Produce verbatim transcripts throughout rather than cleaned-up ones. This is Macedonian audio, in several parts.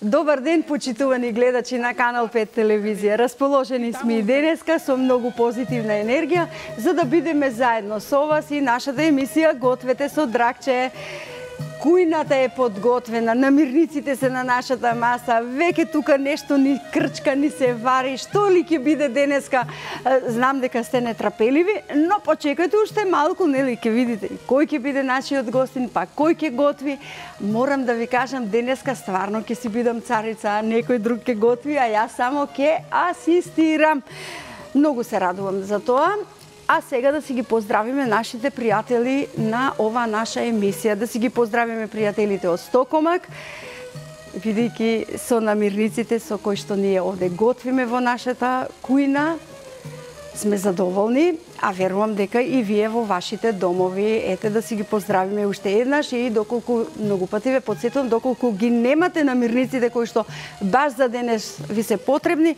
Добар ден, почитувани гледачи на Канал пет телевизија. Расположени сме и денеска со многу позитивна енергија, за да бидеме заедно со вас и нашата емисија Гответе со Драгче. Кујната е подготвена, намирниците се на нашата маса, веќе тука нешто ни крчка, ни се вари, што ли ќе биде денеска? Знам дека сте нетрпеливи, но почекајте уште малку, нели, ќе видите кој ќе биде нашиот гостин, па кој ќе готви. Морам да ви кажам, денеска стварно ќе си бидам царица, некој друг ќе готви, а јас само ќе асистирам. Многу се радувам за тоа. А сега да си ги поздравиме нашите пријатели на ова наша емисија. Да си ги поздравиме пријателите од Стокомак, бидејќи со намирниците со кои што ние овде готвиме во нашата кујна, сме задоволни, а верувам дека и вие во вашите домови. Ете, да си ги поздравиме уште еднаш и доколку многу пати ве потсетувам, доколку ги немате намирниците кои што баш за денес ви се потребни,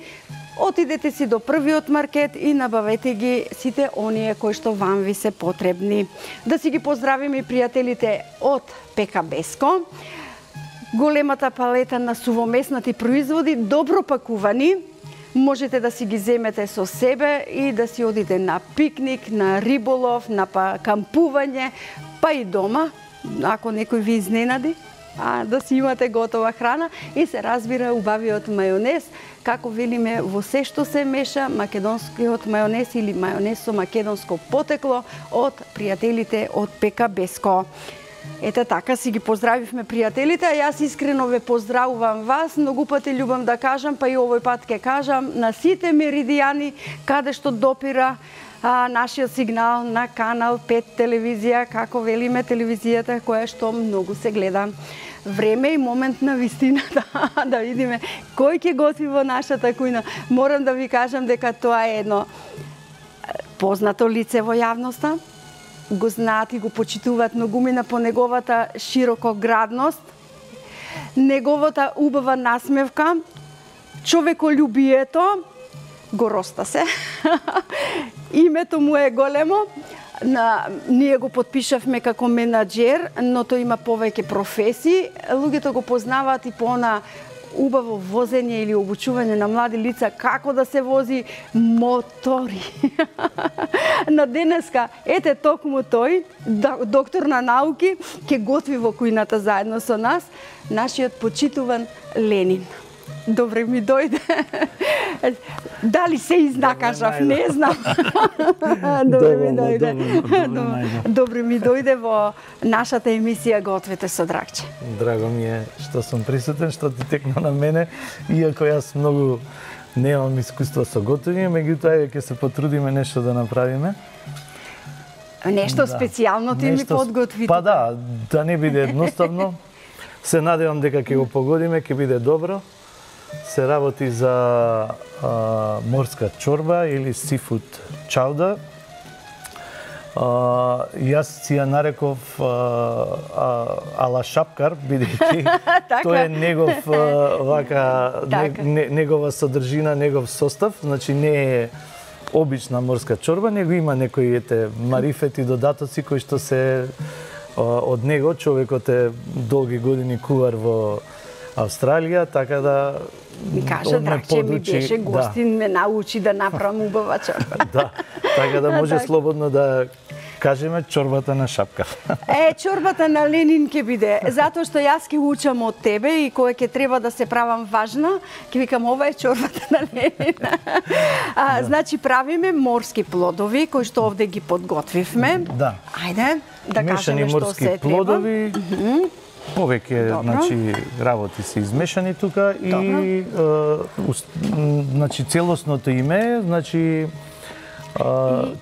отидете си до првиот маркет и набавете ги сите оние кои што вам ви се потребни. Да си ги поздравиме и пријателите од Пека Беско. Големата палета на сувомеснати производи, добро пакувани. Можете да си ги земете со себе и да си одите на пикник, на риболов, на кампување, па и дома, ако некој ви изненади. А, да си имате готова храна и се разбира убавиот мајонез, како велиме во се што се меша, македонскиот мајонез или мајонез со македонско потекло од пријателите од Пека Беско. Ете така си ги поздравивме пријателите, а јас искрено ве поздравувам вас, многу пати љубам да кажам, па и овој пат ќе кажам, на сите меридијани каде што допира А, нашиот сигнал на Канал пет телевизија, како велиме телевизијата која што многу се гледа. Време и момент на вистина да, да видиме кој ќе готви во нашата кујна. Морам да ви кажам дека тоа е едно познато лице во јавноста. Го знаат и го почитуваат многумина по неговата широкоградност, неговата убава насмевка, човеколюбието, го роста се. Името му е големо. На, ние го подпишавме како менаџер, но тој има повеќе професии. Луѓето го познаваат и по она убаво возење или обучување на млади лица како да се вози мотори. На денеска, ете токму тој, доктор на науки, ќе готви во кујната заедно со нас, нашиот почитуван Ленин. Добре ми дојде. Дали се изнакажав, не знам. Добре ми дојде. Добре ми дојде во нашата емисија Гответе со Драгче. Драго ми е што сум присутен, што ти текна на мене, иако јас многу немам искуство со готовење, меѓутоа ќе се потрудиме нешто да направиме. Нешто да. Специјално ти нешто... ми подготви. Па да, да не биде едноставно. Се надевам дека ќе го погодиме, ќе биде добро. Се работи за а, морска чорба или сифуд чауда. А, јас си ја нареков а, а, ала шапкар, бидејќи тој е негов а, вака не, негова содржина, негов состав, значи не е обична морска чорба, него има некои ете марифети, додатоци кои што се а, од него. Човекот е долги години кувар во Австралија, така да ми кажа Драгче ми беше гостин, да. Ме научи да направам убава чорба. Да, така да може слободно да кажеме чорбата на шапка. Е, чорбата на Ленин ќе биде, затоа што јас ќе учам од тебе и кога ќе треба да се правам важна, ќе викам ова е чорбата на Ленин. А, да. Значи правиме морски плодови кои што овде ги подготвивме. Да. Ајде да кажеме што се треба. Мешани морски плодови. Uh-huh. Повеќе значи работи се измешани тука и е, значи целосното име значи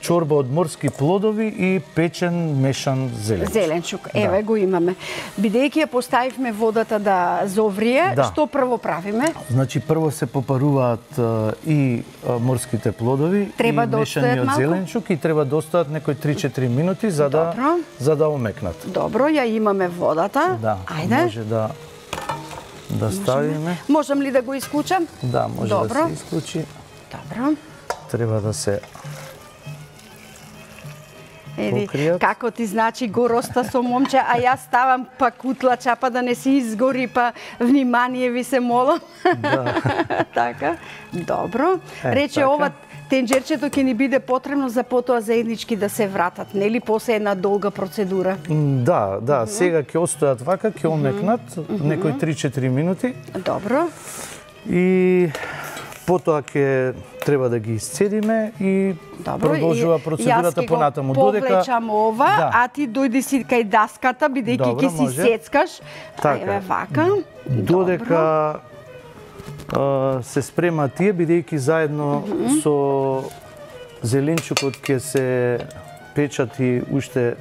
чорба од морски плодови и печен мешан зеленчук. Зеленчук, еве да. Го имаме. Бидејќи ја поставивме водата да зоврие, да. Што прво правиме? Значи прво се попаруваат и морските плодови треба и да мешаниот зеленчук и треба да остават некои три-четири минути за да Добро. За да омекнат. Добро, ја имаме водата. Да. Ајде. Може да да ставиме. Можам ли да го исклучам? Да, може Добро. да се исклучи. Добро. Треба да се Ели, покријат. како ти значи го роста со момче, а јас ставам па кутлача, па да не си изгори, па внимание ви се молам. Да. Така, добро. Е, Рече, така. ова тенџерчето ќе ни биде потребно за потоа заеднички да се вратат, нели, после една долга процедура? Да, да, сега ќе остојат вака, ќе омекнат некои три-четири минути. Добро. И потоа ќе треба да ги исцедиме и Добро, продолжува процедурата понатаму. Јас ќе го повлечам ова, Да. а ти дојди си кај даската, бидејќи Добро, ќе си може. сецкаш. Така. Еве вака. Додека а, се спрема тие, бидејќи заедно со зеленчукот ќе се печат и уште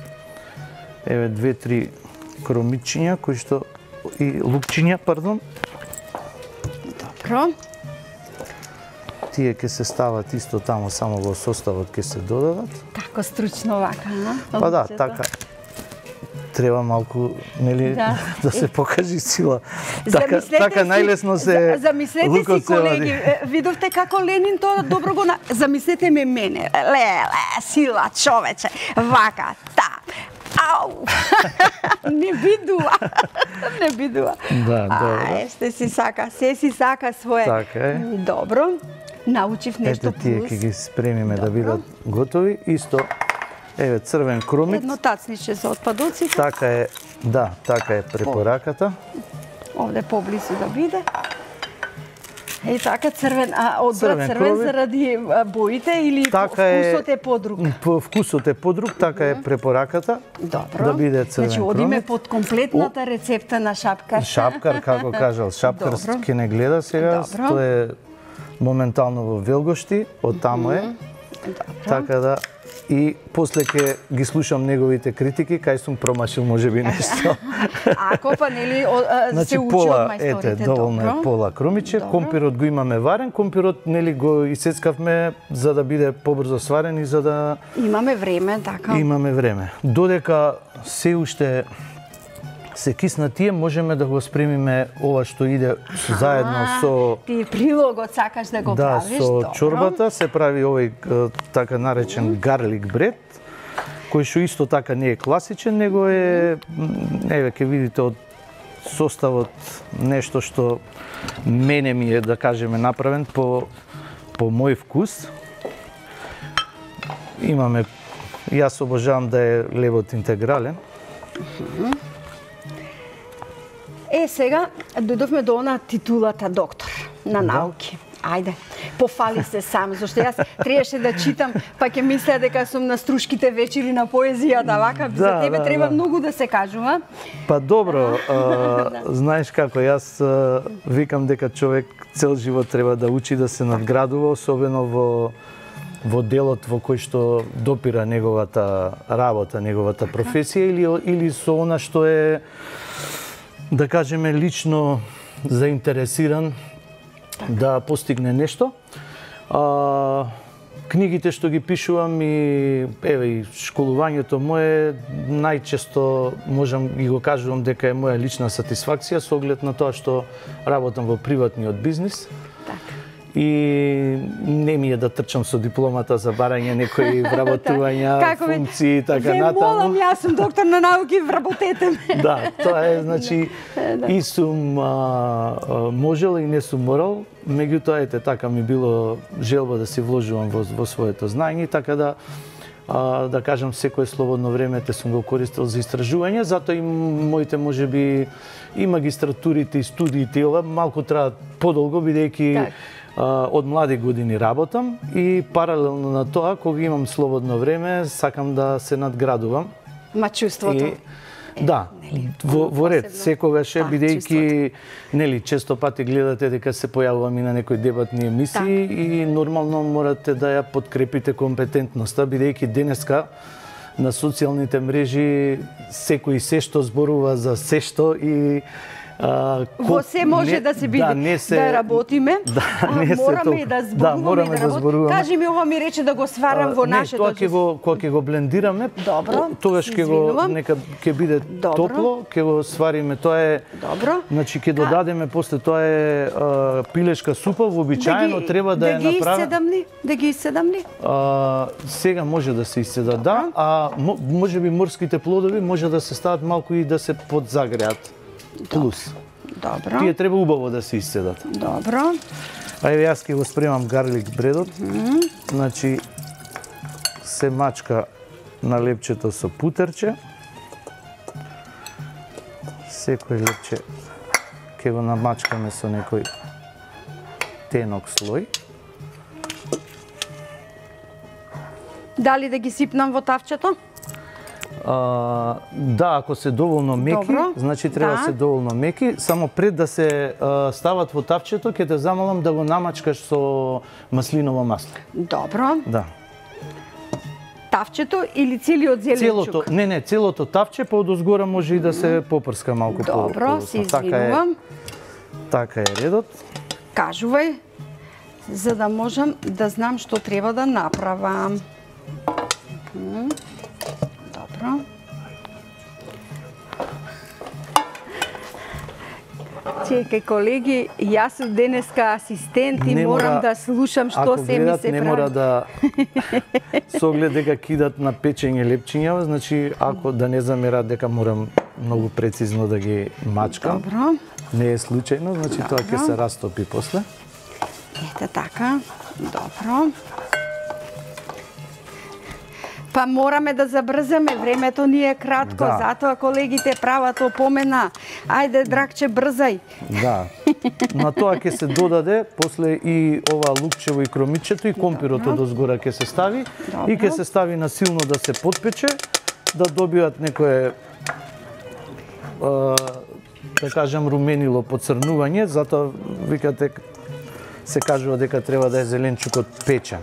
еве две-три кромичиња кои што и лукчиња, пардон. Добро. Тие ќе се стават исто таму, само во составот ќе се додадат. Како стручно вака, а? Па да, Луѓето. така. Треба малку, нели, Да. да се покажи сила. Така, Замислете така си- најлесно се за- Замислете лукот си, се колеги, вади. е, видовте како Ленин тоа добро го на... Замислете ме мене. Леле, сила, човече. Вака, та. Ау! Не бидува. Не бидува. Да, добро. Ај, ще си сака, се си сака свое. Така е. Добро. Научив нешто Ете тие плюс. ќе ги спремиме да Добро. бидат готови. Исто, еве црвен кромит. Едно тацниче за отпадоците. Така е, да, така е препораката. Овде поблису да биде. Е така црвен, а одбра Црвен црвен, крови. заради а, боите или Така е- вкусот е подруг? По вкусот е подруг, така е препораката. Добро. Да биде црвен Значи, одиме кромит. под комплетната рецепта на шапкар. Шапкар, како кажал, шапкар Добро. ќе не гледа сега, Добро. тоа е моментално во Велгошти, од таму е. Добро. Така да, и после ќе ги слушам неговите критики, кај сум промашил можеби нешто. Ако па нели о, а, Значи се учи од пола, мајсторите. ете, доволно Добро. е пола кромиче, Добро. компирот го имаме варен, компирот нели го исецкавме за да биде побрзо сварен и за да Имаме време, така. имаме време. Додека се уште се кисна тие, можеме да го спремиме ова што иде заедно А, со Ти прилогот сакаш да го да, правиш, со добро. чорбата се прави овој е, така наречен гарлик бред, кој што исто така не е класичен, него е м, еве ќе видите од составот нешто што мене ми е, да кажеме, направен по по мој вкус. Имаме, јас обожавам да е лебот интегрален. Е, сега дојдовме до она титулата доктор на науки. Ајде, пофали се сам, зашто јас требаше да читам, па ќе мислеа дека сум на струшките вечери на поезијата, вака, за Да, тебе да, треба да. многу да се кажува. Па добро, а, знаеш како, јас а, викам дека човек цел живот треба да учи да се надградува, особено во во делот во кој што допира неговата работа, неговата професија или или со она што е, да кажеме, лично заинтересиран да постигне нешто. А, книгите што ги пишувам и еве и школувањето мое најчесто можам и го кажувам дека е моја лична сатисфакција со оглед на тоа што работам во приватниот бизнис. И не ми е да трчам со дипломата за барање некои вработувања, Како ве- функции и така Ве натаму. молам, јас сум доктор на науки, вработете ме. Да, тоа е, значи, и сум а, а, можел и не сум морал, меѓутоа, ете, така ми било желба да се вложувам во, во своето знаење, така да, а, да кажам, секое слободно време те сум го користил за истражување, затоа и моите, можеби, и магистратурите, и студиите, и ова, малку траат подолго, бидејќи Так. а, од млади години работам и паралелно на тоа, кога имам слободно време, сакам да се надградувам. Ма чувството. И, да, нели, во, во ред, посебно. секогаш е, Да, бидејќи, нели, често пати гледате дека се појавувам и на некои дебатни емисии и нормално морате да ја подкрепите компетентноста, бидејќи денеска на социјалните мрежи секој се што зборува за се што и А, Во се може не, да се биде, да, не се, да работиме, да, не мораме толку, и да зборуваме, да, мораме да, да зборуваме. Кажи ми, ова ми рече да го сварам во не, нашето. тоа ќе го кога ќе го блендираме, Добро, тогаш ќе го нека ќе биде Добро. топло, ќе го свариме, тоа е Добро. Значи ќе додадеме после тоа е а, пилешка супа, вообичаено да ги, треба да, да ја ги направи. изседам ли? Да ги изседам ли? А, сега може да се изседа, да, а може би морските плодови може да се стават малку и да се подзагреат. Плюс. Добро. Тие треба убаво да се изседат. Добро. А еве јас ќе го спремам гарлик бредот. Mm -hmm. Значи се мачка на лепчето со путерче. Секој лепче ќе го намачкаме со некој тенок слој. Дали да ги сипнам во тавчето? А, да, ако се доволно меки, Добро. значи треба да Да. се доволно меки, само пред да се а, стават во тавчето, ќе те замолам да го намачкаш со маслиново масло. Добро. Да. Тавчето или целиот зеленчук? Целото, не, не, целото тавче, па одозгора може и да се попрска малку по. Добро, се Така е, извинувам. така е редот. Кажувај, за да можам да знам што треба да направам. Мгм. Добро. Чекај, колеги, јас сум денеска асистент и Не морам мора- да слушам што Ако се ми гледат, се не прави. мора да со оглед дека кидат на печење лепчиња, значи ако да не замерат дека морам многу прецизно да ги мачкам. Добро. Не е случајно, значи тоа ќе се растопи после. Ете така. Добро. Па мораме да забрзаме, времето ни е кратко, Да. затоа колегите прават опомена. Ајде, Драгче, брзај. Да. На тоа ќе се додаде после и ова лукчево и кромичето и компирото дозгора ќе се стави Добро. и ќе се стави на силно да се потпече, да добијат некое а, да кажам руменило поцрнување, затоа викате се кажува дека треба да е зеленчукот печен.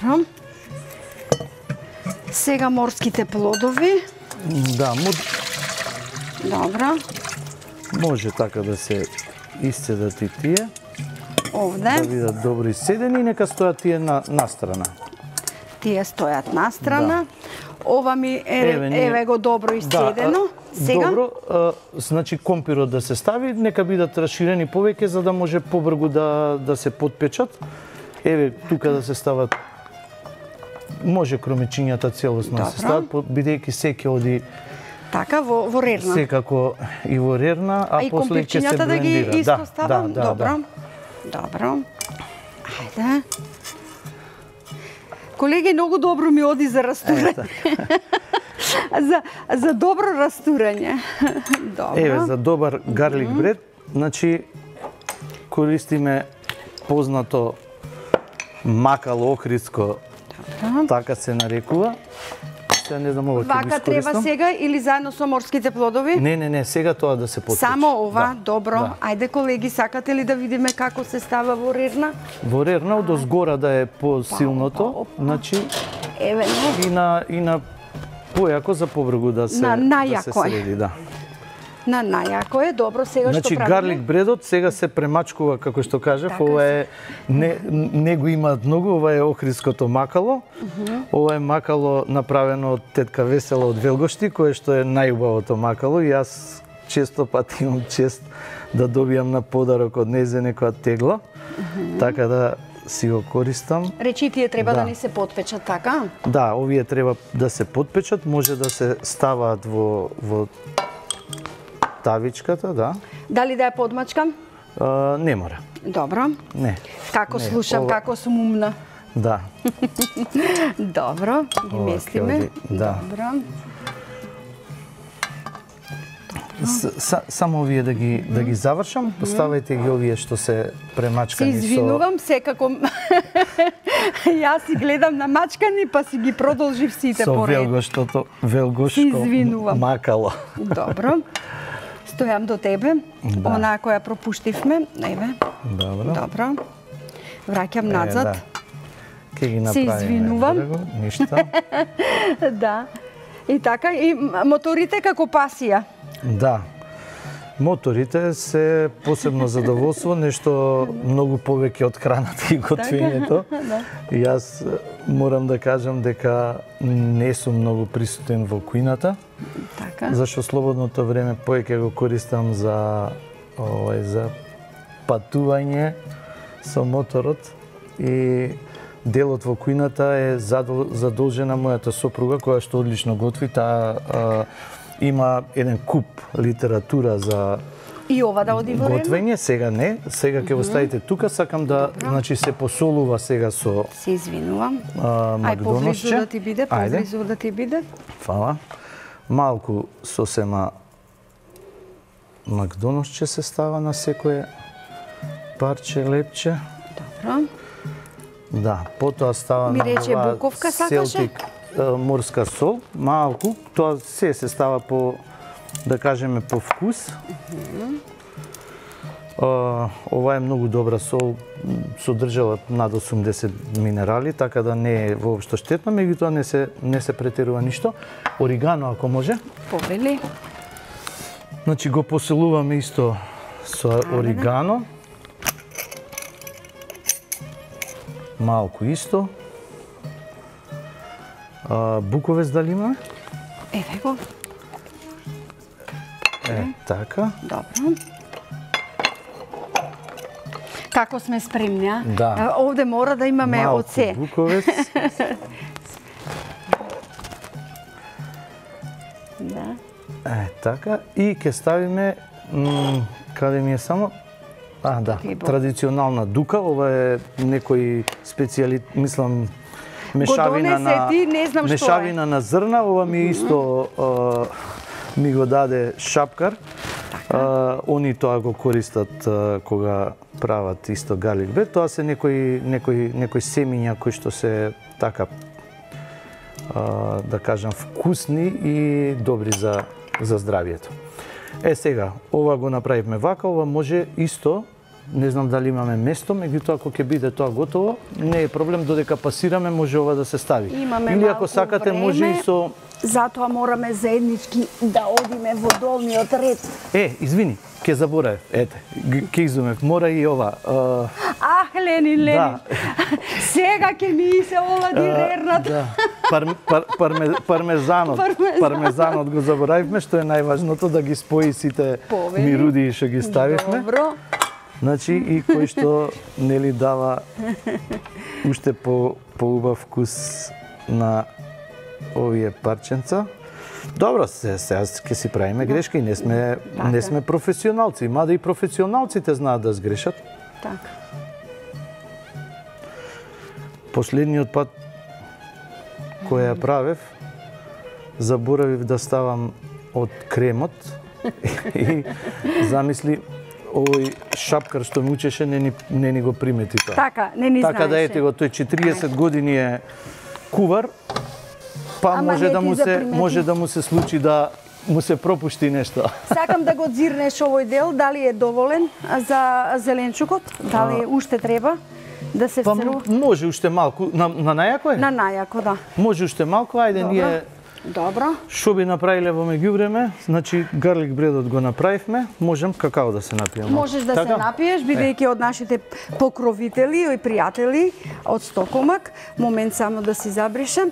Добро. Сега морските плодови. Да, му, Добро. може така да се исцедат и тие, да Овде. бидат добро исцедени и нека стојат тие на, на страна. Тие стојат настрана. Ова ми е, Еве, ние- еве го добро исцедено. а, Сега? Добро, а, значи компирот да се стави, нека бидат расширени повеќе за да може побргу да да се потпечат. Еве тука да се стават може кромичињата целосно да се Добро. стават, по- бидејќи секи оди Така, во, во рерна. секако и во рерна, а, А и после ќе се компирчињата да ги блендира. исто Да, ставам? да, да, Добро. да. Добро. Ајде. Колеги, многу добро ми оди за растурање. за, за добро растурање. Добро. Еве за добар гарлик бред, значи користиме познато макало охридско, Добро. така се нарекува. Се не знам ова ќе го Вака треба искористам. сега или заедно со морските плодови? Не, не, не, сега тоа да се потпече. Само ова, Да, добро. да. Ајде, колеги, сакате ли да видиме како се става во рерна? Во рерна од озгора да е посилното, значи Еве, не. и на и на појако за побргу да се На да се најако е. среди, да. На најако е, добро, сега Значи што правиме? гарлик бредот сега се премачкува како што кажав, Така ова е не не го имаат многу, ова е охридското макало. Ова е макало направено од тетка Весела од Велгошти, кое што е најубавото макало и јас често пати имам чест да добијам на подарок од нејзе некоја тегла. Така да си го користам. Речи, тие треба да. Да. да ни се потпечат, така? Да, овие треба да се потпечат, може да се ставаат во во тавичката, да. Дали да ја подмачкам? А, не мора. Добро. Не. Како Не, слушам, ова- како сум умна. Да. Добро, ги Ова ќе местиме. оди, да. Добро. С, са, само овие да ги да ги завршам, поставајте ги овие што се Се премачкани извинувам, секако јас си гледам на мачкани, па си ги продолжив сите со со поред. велгоштото, велгошко Се извинувам. макало. Добро. Стојам до тебе. Да. Онаа која пропуштивме. Еве. Добро. Добро. Враќам Е, назад. да. Ке ги Се направиме. извинувам. брега, Ништа. Да. И така, и моторите како пасија. Да. Моторите се посебно задоволство, нешто многу повеќе од храната и готвењето. Да. И јас морам да кажам дека не сум многу присутен во кујната. Така. Зашто слободното време повеќе го користам за овај за патување со моторот и делот во кујната е задолжена мојата сопруга која што одлично готви. Таа има еден куп литература за и ова да оди во готвење, сега не, сега ќе го ставите тука, сакам да, значи се посолува сега со се извинувам. Ај поблизу да ти биде, поблизу да ти биде. Фала. Малку сосема макдоносче се става на секое парче лепче. Добро. Да, потоа става ми на рече буковка сакаше? Морска сол, малку, тоа се се става по, да кажеме, по вкус. Uh-huh. Uh, ова е многу добра сол, содржала над осумдесет минерали, така да не е воопшто штетно, меѓутоа не се не се претерува ништо. Оригано ако може. Повели. Значи го поселуваме исто со оригано. Малку исто. А, буковец дали имаме? Еве го. Е, така. Добро. Како сме спремни, а? Да. Овде мора да имаме малку од се. буковец. Да. Е, така. И ќе ставиме, каде ми е само? А, да, Хлебо. Традиционална дука. Ова е некој специјали, мислам, мешавина на ти, не знам мешавина на зрна. Ова ми исто а, ми го даде шапкар. А, они тоа го користат а, кога прават исто гарлик бред. Тоа се некои некои некои семиња кои што се така а, да кажам вкусни и добри за за здравието. Е сега, ова го направивме вака, ова може исто, не знам дали имаме место, меѓутоа ако ќе биде тоа готово, не е проблем, додека пасираме може ова да се стави. Имаме или ако сакате време, може и со затоа мораме заеднички да одиме во долниот ред. Е, извини, ќе заборавев. Ете, ќе изумев. Мора и ова. Uh... Ах, Ленин, Ленин. Да. Сега ќе ми се олади uh, рерната. Да. Пар, пар, парме, пармезанот. Пармезан. Пармезанот го заборавивме, што е најважното да ги спои сите Повели. мируди што ги ставивме. Добро. Значи и кој што нели дава уште по поубав вкус на овие парченца. Добро, се сега ќе си правиме грешка и не сме така. не сме професионалци, мада и професионалците знаат да сгрешат. Така. Последниот пат кој ја правев, заборавив да ставам од кремот и замисли овој шапкар што ми учеше не ни, не ни го примети тоа. Така, не ни Така знаеше. да ете го, тој четириесет години е кувар, па Ама може не да ти му се запримети. може да му се случи да му се пропушти нешто. Сакам да го дзирнеш овој дел, дали е доволен за зеленчукот, дали уште треба да се Па всерува? може уште малку, на, на најако е? На најако, да. Може уште малку, ајде Добро. ние Добро. што би направиле во меѓувреме, значи гарлик бредот го направивме, можем какао да се напиеме. Можеш да се напиеш, бидејќи од нашите покровители и пријатели од Стокомак. Момент само да си забришам.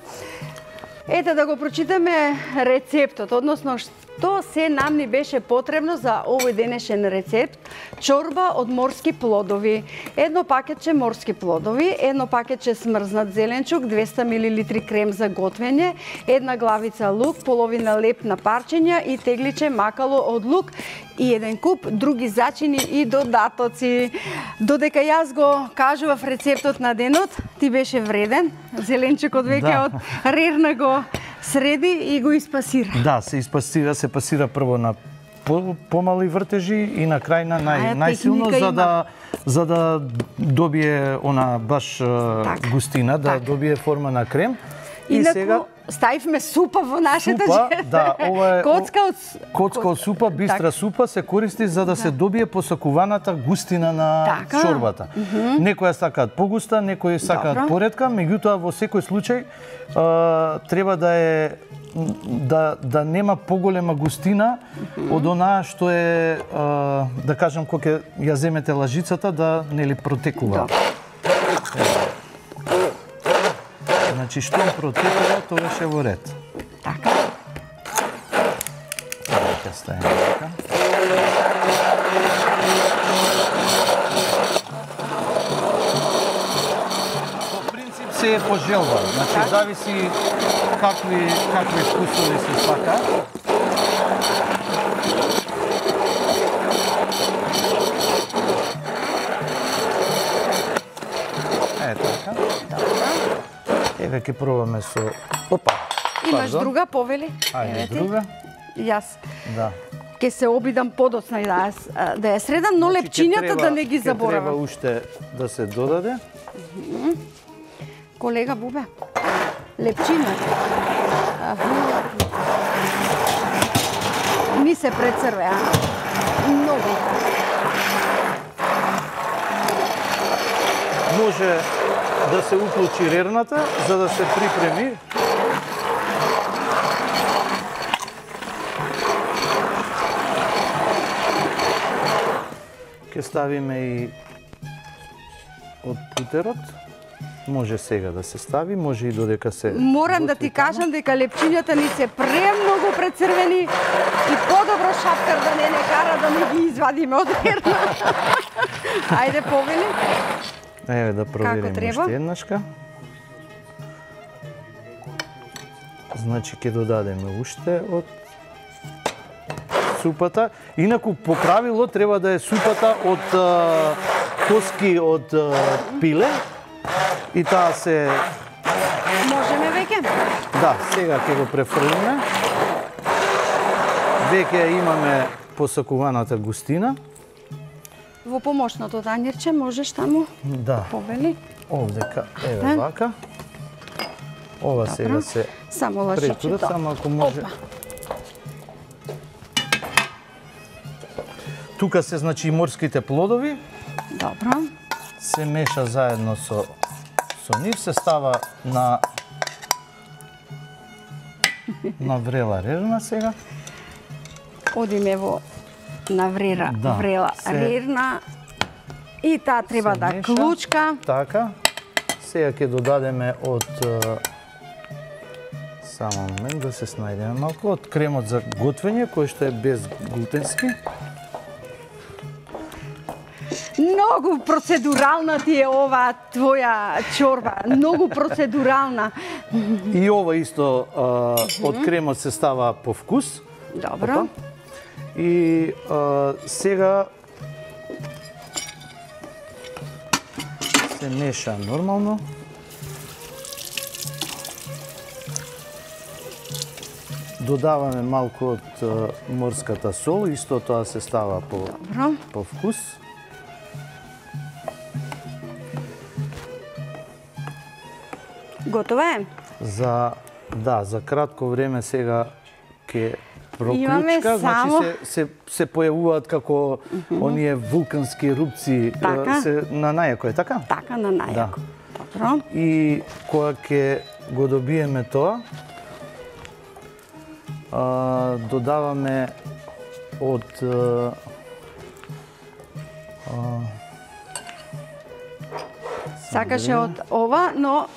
Ете да го прочитаме рецептот, односно што се нам ни беше потребно за овој денешен рецепт. Чорба од морски плодови, едно пакетче морски плодови, едно пакетче смрзнат зеленчук, двеста милилитри крем за готвење, една главица лук, половина леп на парчиња и тегличе макало од лук и еден куп други зачини и додатоци. Додека јас го кажував рецептот на денот, ти беше вреден. Зеленчукот веќе Да. од рерна го среди и го испасира. Да, се испасира, се пасира прво на по, помали вртежи и на крај на нај, А, најсилно техника за да за да добие она баш Так. густина, да Так. добие форма на крем. И Инаку, сега ставивме супа во нашата супа, жена. да, ова е Коцка од... Коцка од супа, бистра Так. супа се користи за да се добие посакуваната густина на Така. чорбата. Некои сакаат погуста, некои сакаат Добро. поретка, меѓутоа во секој случај а, треба да е да да нема поголема густина од онаа што е, а, да кажам, кога ќе ја земете лажицата да нели протекува. Значи што протекува, тогаш е во ред. Така. Ќе ставиме така. По принцип се е по желба, значи зависи какви какви вкусови се сака. Е така. Еве ќе пробаме со опа. Имаш Пардон. друга повели? Ајде друга. Јас. Да. Ке се обидам подоцна и да ја, с- да ја средам, но Значи, ќе лепчињата треба- да не ги ќе Треба заборавам. уште да се додаде. Колега Бубе, лепчината. Аха. Ни се прецрве, а? Многу. Може да се уклучи рерната за да се припреми. Ке ставиме и од путерот. Може сега да се стави, може и додека се Морам да готви ти тамо. кажам дека лепчињата ни се премногу прецрвени и подобро шаптер да не не кара да не ги извадиме од рерна. Ајде, повели. Еве да провериме треба? уште еднашка. Значи ќе додадеме уште од супата. Инаку по правило треба да е супата од а, коски од а, пиле и таа се Можеме веќе? да, сега ќе го префрлиме. Веќе ја имаме посакуваната густина. Во помошното танјирче можеш таму? Да. Повели. Овдека, еве Да. вака. Ова сега се Само претурат, лашичето. само ако може. Опа. Тука се значи и морските плодови, Добро. се меша заедно со со нив, се става на на врела рерна сега. Одиме во наврера, Да, врела се- рерна. И таа треба се да меша. клучка. Така. Сега ќе додадеме од е, само момент да се снајдеме малку од кремот за готвење кој што е безглутенски. Многу процедурална ти е ова твоја чорба. Многу процедурална. И ова исто е, од кремот се става по вкус. Добро. Опа. И е, сега се меша нормално. Додаваме малку од е, морската сол, исто тоа се става по, Добро. по вкус. Готова е? За да, за кратко време сега ќе Имаме проклучка, само- значи се се се појавуваат како оние вулкански ерупции Така. се на најако е така? Така на најако. Добро. И кога ќе го добиеме тоа, а, додаваме од а, а, Сакаше од ова, но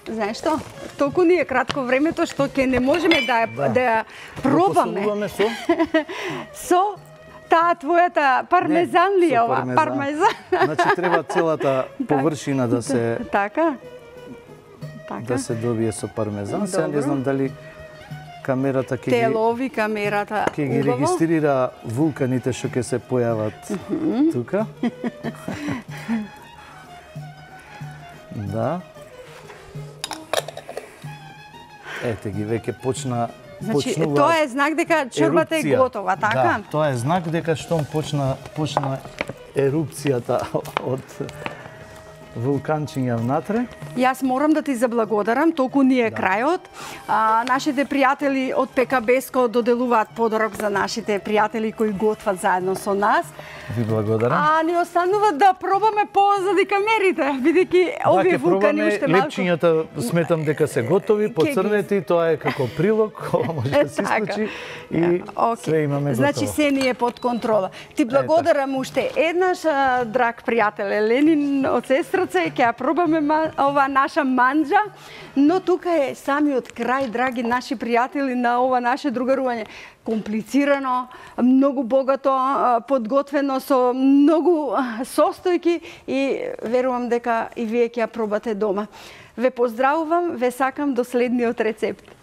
знаеш што? Толку ни е кратко времето што ќе не можеме да ја, Да. да ја го пробаме посолуваме со со таа твојата пармезан ли е со ова? Пармезан. Значи треба целата површина да се Така? Така? да се добие со пармезан. Сега не Добро. знам дали камерата ќе ги Телови камерата. ќе ги убаво. регистрира вулканите што ќе се појават тука. Да. Ете ги веќе почна Значи, почнува тоа е знак дека чорбата е ерупција. готова, така? Да, тоа е знак дека штом почна почна ерупцијата од вулканчиња внатре. Јас морам да ти заблагодарам, толку ни е да. крајот. А, нашите пријатели од ПКБеско доделуваат подарок за нашите пријатели кои готват заедно со нас. Ви благодарам. А ни останува да пробаме позади камерите, бидејќи овие вулкани уште малку. Лепчињата сметам дека се готови, поцрнети, тоа е како прилог, ова може да се исклучи и okay. све имаме готово. Значи се ни е под контрола. Ти благодарам уште еднаш, драг пријател Еленин од Сестраце, ќе ја пробаме ова наша манџа, но тука е самиот крај, драги наши пријатели, на ова наше другарување. Комплицирано, многу богато подготвено со многу состојки и верувам дека и вие ќе ја пробате дома. Ве поздравувам, ве сакам до следниот рецепт.